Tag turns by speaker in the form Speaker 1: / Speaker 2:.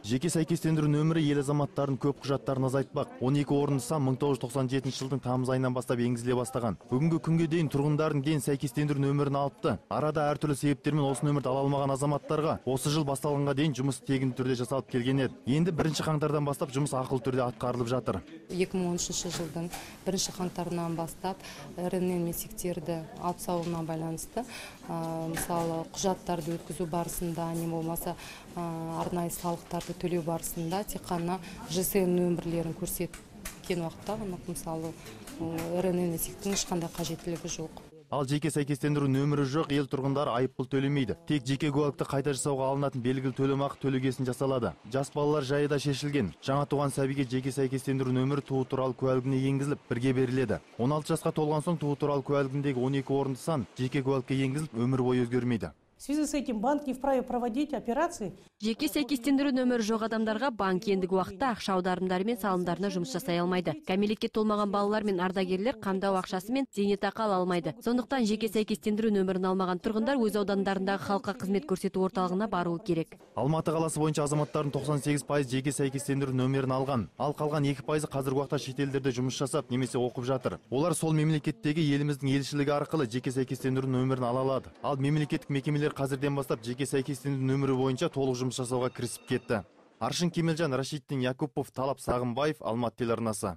Speaker 1: Жеке сәйкестендіру нөмірі ел азаматтарын көп құжаттарын азайтпақ. 12 орынды сан 1997 жылдың тамыз айынан бастап енгізіле бастаған. Бүгінгі күнге дейін тұрғындардың ден сәйкестендіру нөмірін алыпты. Арада әртүрлі себептермен осы нөмірді ала алмаған азаматтарға осы жыл басталғанға дейін жұмыс тегін түрде жасалып келген еді. Енді 1 қаңтардан бастап жұмыс ақылы түрде атқарылып жатыр.
Speaker 2: 2013 жылдың 1 қаңтарынан бастап РНН месектерді алып салуына байланысты, мысалы құжаттарды өткізу барысында, не болмаса арнайы салықтарды төлеу барысында тек қана ЖСН нөмірлерін көрсеткен уақытта мысалы РНН месектің ешқандай қажеттілігі жоқ.
Speaker 1: Ал жеке сәйкестендіру нөмірі жоқ ел тұрғындары айыппұл төлемейді. Тек жеке куәлікті қайта жасауға алынатын белгілі төлемақы төлегесін жасалады. Жас балалар жайы да шешілген. Жаңа туған сәбиге жеке сәйкестендіру нөмірі туу туралы куәлігіне енгізіліп, бірге беріледі. 16 жасқа толған соң туу туралы куәлігіндегі 12 орынды сан жеке куәлікке енгізіліп, өмір бойы өзгермейді.
Speaker 3: В связи с этим банк не вправе проводить операции.
Speaker 4: Жеке сәйкестендіру нөмірі жоқ адамдарға банк ендігі уақытта ақша аударымдары мен салымдарына жұмыс жасай алмайды. Кәмелетке толмаған балалар мен ардагерлер қамдау ақшасы мен зейнетақы ала алмайды. Сондықтан жеке сәйкестендіру нөмірін алмаған тұрғындар өз аудандарындағы халыққа қызмет көрсету орталығына баруы керек.
Speaker 1: Алматы қаласы бойынша азаматтардың 98% жеке сәйкестендіру нөмірін алған. Ал қалған 2% қазіргі уақытта шетелдерде жұмыс жасап немесе оқып жатыр. Олар сол мемлекеттегі еліміздің елшілігі арқылы жеке сәйкестендіру нөмірін ала алады. Ал мемлекеттік мекемелер қазірден бастап жеке сәйкестендіру нөмірі бойынша толық жұмыс жасауға кірісіп кетті. Аршын Кемелжан, Рашиддин Якупов, Талап Сағымбаев, Алматы телеарнасы.